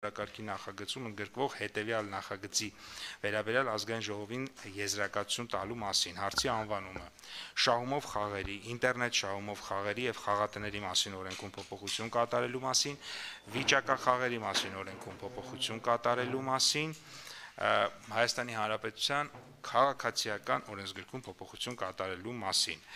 Կարգի նախագծում ընդգրկվող հետևյալ նախագծի վերաբերյալ ազգային ժողովին եզրակացություն տալու մասին։ Հարցի անվանումը՝ շահումով խաղերի, ինտերնետ շահումով խաղերի եւ խաղատների մասին օրենքում փոփոխություն կատարելու մասին, վիճակախաղերի մասին օրենքում փոփոխություն կատարելու մասին, Հայաստանի Հանրապետության քաղաքացիական օրենսգրքում փոփոխություն կատարելու մասին։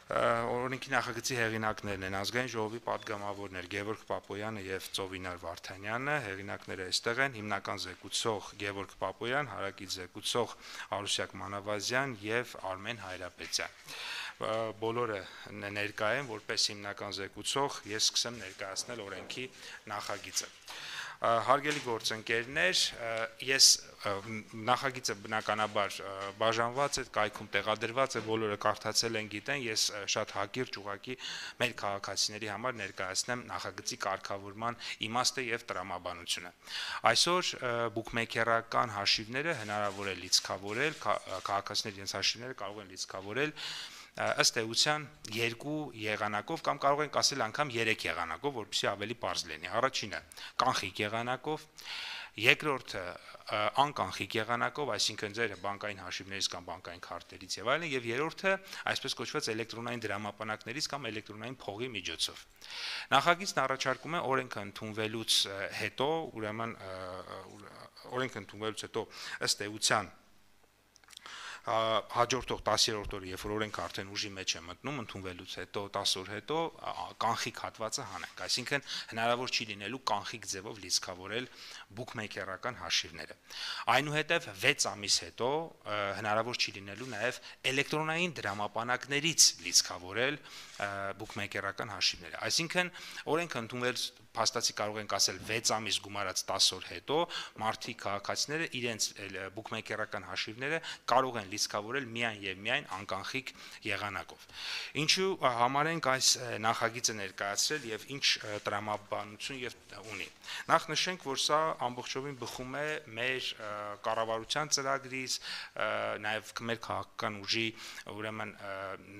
Օրենքի նախագծի հեղինակներն են ազգային ժողովի պատգամավորներ Գևորգ Պապոյանը եւ Ծովինար Վարդանյանը, հեղինակները այստեղ են, հիմնական զեկուցող Գևորգ Պապոյան, հարակից զեկուցող Արուսյակ Մանավազյան եւ Արմեն Հայրապետյան։ Բոլորը ներկա են, որպես հիմնական զեկուցող ես սկսեմ ներկայացնել օրենքի նախագիծը։ Հարգելի գործընկերներ, ես նախագիծը բնականաբար բաժանված է, կայքում տեղադրված է, բոլորը կարդացել են, գիտեն, ես շատ հակիրճ ուղղակի մեր քաղաքացիների համար ներկայացնեմ նախագծի կարգավորման իմաստը եւ տրամաբանությունը։ Այսօր բուքմեյքերական հաշիվները հնարավոր է լիցքավորել, քաղաքացիների իրենց հաշիվները կարող են լիցքավորել ըստ էության երկու եղանակով կամ կարող ենք ասել անգամ 3 եղանակով, որպեսզի ավելի պարզ լինի։ Առաջինը կանխիկ եղանակով, երկրորդը անկանխիկ եղանակով, այսինքն ձեր բանկային հաշիվներից կամ բանկային քարտերից եւ այլն, եւ երրորդը այսպես կոչված էլեկտրոնային դրամապանակներից կամ էլեկտրոնային փողի միջոցով։ Նախագիծն առաջարկում է օրենքը ընդունվելուց հետո, ուրեմն օրենքը ընդունվելուց հետո ըստ էության հաջորդող 10-րդ օրը, երբ որ օրենքը արդեն ուժի մեջ է մտնում, ընդունվելուց հետո 10 օր հետո կանխիկ հատվածը հանենք, այսինքն հնարավոր չի լինելու կանխիկ ձևով լիցքավորել բուքմեյքերական հաշիվները։ Այնուհետև 6 ամիս հետո հնարավոր չի լինելու նաև էլեկտրոնային դրամապանակներից լիցքավորել բուքմեյքերական հաշիվները։ Այսինքն օրենքը ընդունվելուց փաստացի կարող ենք ասել 6 ամիս գումարած 10 օր հետո մարդիկ քաղաքացիները իրենց բուքմեյքերական հաշիվները կարող են լիցքավորել միայն եւ միայն անկանխիկ եղանակով։ Ինչու համար ենք այս նախագիծը ներկայացրել եւ ինչ տրամաբանություն եւ ունի։ Նախ նշենք, որ սա ամբողջովին բխում է մեր կառավարության ծրագրից, նաեւ մեր քաղաքական ուժի ուրեմն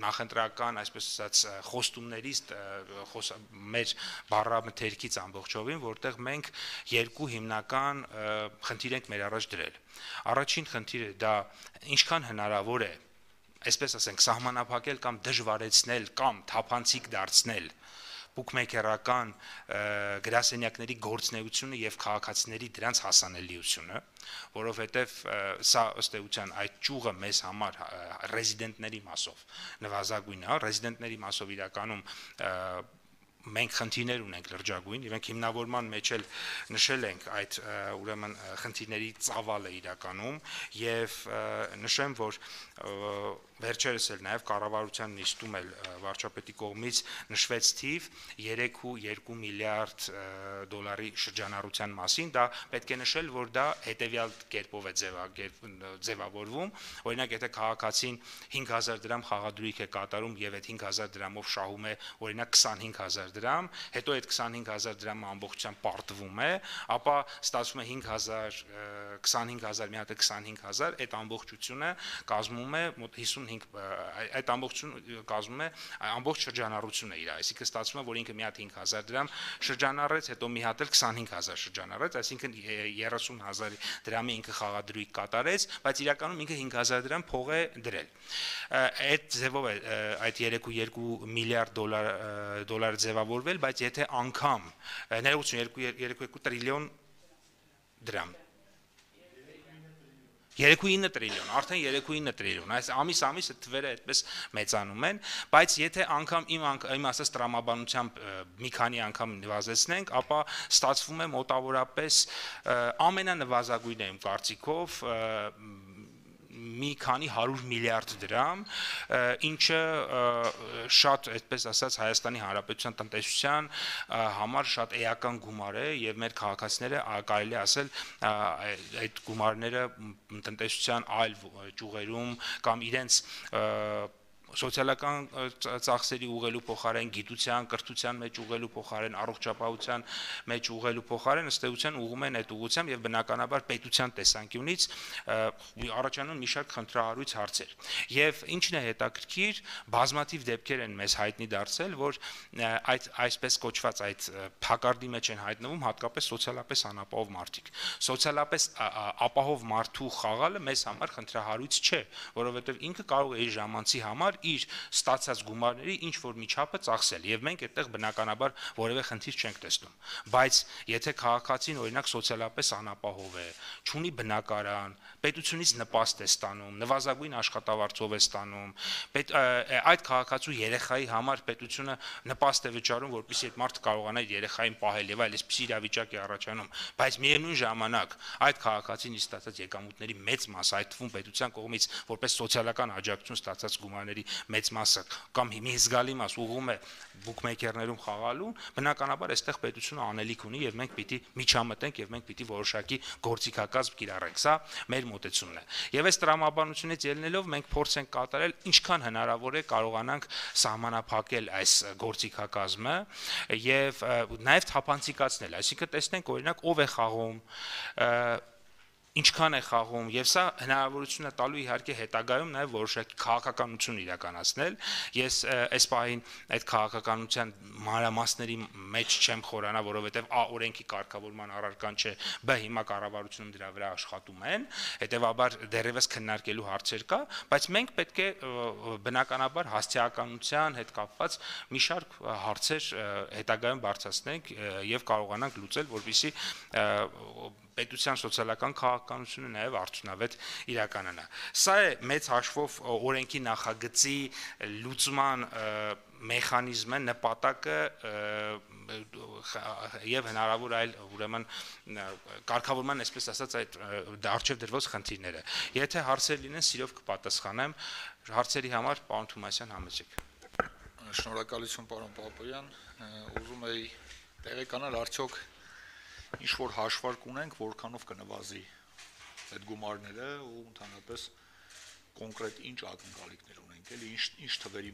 նախընտրական, այսպես ասած, խոստումներից, մեր բառամթերքից ամբողջովին, որտեղ մենք երկու հիմնական խնդիր ենք մեր առաջ դրել։ Առաջին խնդիրը դա ինչքան հնարավոր է, այսպես ասենք, սահմանափակել կամ դժվարեցնել կամ թափանցիկ դարձնել բուքմեյքերական գրասենյակների գործունեությունը եւ քաղաքացիների դրանց հասանելիությունը, որովհետեւ սա ըստ էության այդ ճյուղը մեզ համար ռեզիդենտների մասով նվազագույնն է, ռեզիդենտների մասով իրականում մենք խնդիրներ ունենք լրջագույն, իրենք հիմնավորման մեջ էլ նշել ենք այդ ուրեմն խնդիրների ծավալը իրականում եւ նշեմ, որ վերջերս էլ նաեւ կառավարության նիստում էլ վարչապետի կողմից նշվեց թիվ 3.2 միլիարդ դոլարի շրջանառության մասին, դա պետք է նշել, որ դա հետեւյալ կերպով է ձևավորվում, օրինակ եթե քաղաքացին 5000 դրամ խաղադրույք է կատարում եւ այդ 5000 դրամով շահում է օրինակ 25000 դրամ, հետո այդ 25000 դրամը ամբողջությամբ պարտվում է, ապա ստացվում է 5000, 25000 մի հատ 25000, այդ ամբողջությունը կազմում է մոտ 55, այդ ամբողջությունը կազմում է ամբողջ շրջանառությունը իր, այսինքն ստացվում է, որ ինքը մի հատ 5000 դրամ շրջանառեց, հետո մի հատ էլ 25000 շրջանառեց, այսինքն 30000 դրամի ինքը խաղադրույք կատարեց, բայց իրականում ինքը 5000 դրամ փող է դրել։ Այդ ձևով է այդ 3.2 միլիարդ դոլար ձևավորվել, բայց եթե անգամ ներողություն 2.2 տրիլիոն դրամ 3.9 տրիլիոն, արդեն 3.9 տրիլիոն, այս ամիս թվերը այդպես մեծանում են, բայց եթե անգամ իմ ասած տրամաբանությամբ մի քանի անգամ նվազեցնենք, ապա ստացվում է մոտավորապես ամենանվազագույնը իմ կարծիքով մի քանի 100 միլիարդ դրամ, ինչը շատ, այդպես ասած, Հայաստանի Հանրապետության տնտեսության համար շատ էական գումար է եւ մեր քաղաքացիները կարելի է ասել այդ գումարները տնտեսության այլ ճյուղերում կամ իրենց սոցիալական ծախսերի ուղղելու փոխարեն, գիտության, կրթության մեջ ուղղելու փոխարեն, առողջապահության մեջ ուղղելու փոխարեն ըստ էության ուղղում են այդ ուղղությամբ եւ բնականաբար պետության տեսանկյունից առաջանում մի շարք խնդրահարույց հարցեր։ Եվ ինչն է հետաքրքիր, բազմաթիվ դեպքեր են մեզ հայտնի դարձել, որ այդ այսպես կոչված այդ փակարդի մեջ են հայտնվում հատկապես սոցիալապես անապահով մարդիկ։ Սոցիալապես ապահով մարդու խաղալը մեզ համար խնդրահարույց չէ, որովհետեւ ինքը կարող է իր ժամանցի համար իր ստացած գումարների ինչ որ միջապը ծախսել եւ մենք այդտեղ բնականաբար որևէ խնդիր չենք տեսնում, բայց եթե քաղաքացին օրինակ սոցիալապես անապահով է, չունի բնակարան, պետությունից նպաստ է ստանում, նվազագույն աշխատավարձով է ստանում, այդ քաղաքացու երեխայի համար պետությունը նպաստ է վճարում, որպեսզի այդ մարդը կարողանա իր երեխային պահել եւ այսպիսի իրավիճակ է առաջանում, բայց միևնույն ժամանակ այդ քաղաքացին ստացած եկամուտների մեծ մասը, այդ թվում պետության կողմից որպես սոցիալական աջակցություն ստացած գումարների մեծ մասը կամ մի զգալի մաս ուղղում է բուքմեյքերներում խաղալու, բնականաբար այստեղ պետությունը անելիք ունի եւ մենք պիտի միջամտենք եւ մենք պիտի որոշակի գործիքակազմ կիրառենք։ Սա մեր մոտեցումն է։ Եվ այս տրամաբանությունից ելնելով մենք փորձ ենք կատարել ինչքան հնարավոր է կարողանանք սահմանափակել այս գործիքակազմը եւ նաեւ թափանցիկացնել, այսինքն տեսնենք օրինակ ով է խաղում, ինչքան է խաղում եւ սա հնարավորություն է տալու իհարկե հետագայում նաեւ որոշակի քաղաքականություն իրականացնել։ Ես այս պահին այդ քաղաքականության մանրամասների մեջ չեմ խորանա, որովհետեւ օրենքի կարգավորման առարկան չէ, բ հիմա կառավարությունում դրա վրա աշխատում են, հետեւաբար դեռևս քննարկելու հարցեր կա, բայց մենք պետք է բնականաբար հասցեականության հետ կապված մի շարք հարցեր հետագայում բարձրացնենք եւ կարողանանք լուծել, որպեսզի պետության սոցիալական քաղաքականությունը նաև արդյունավետ իրականանա։ Սա է մեծ հաշվով օրենքի նախագծի լուծման մեխանիզմը, նպատակը եւ հնարավոր այլ ուրեմն կարգավորման, այսպես ասած, այդ արժեվ դրված խնդիրները։ Եթե հարցեր լինեն, սիրով կպատասխանեմ, հարցերի համար պարոն Թումասյան համեցեք։ Շնորհակալություն պարոն Պապոյան, ուզում էի տեղեկանալ արդյոք ինչ որ հաշվարկ ունենք, որքանով կնվազի այդ գումարները ու ընդհանրապես կոնկրետ ինչ ակնկալիքներ ունենք, էլի ինչ թվերի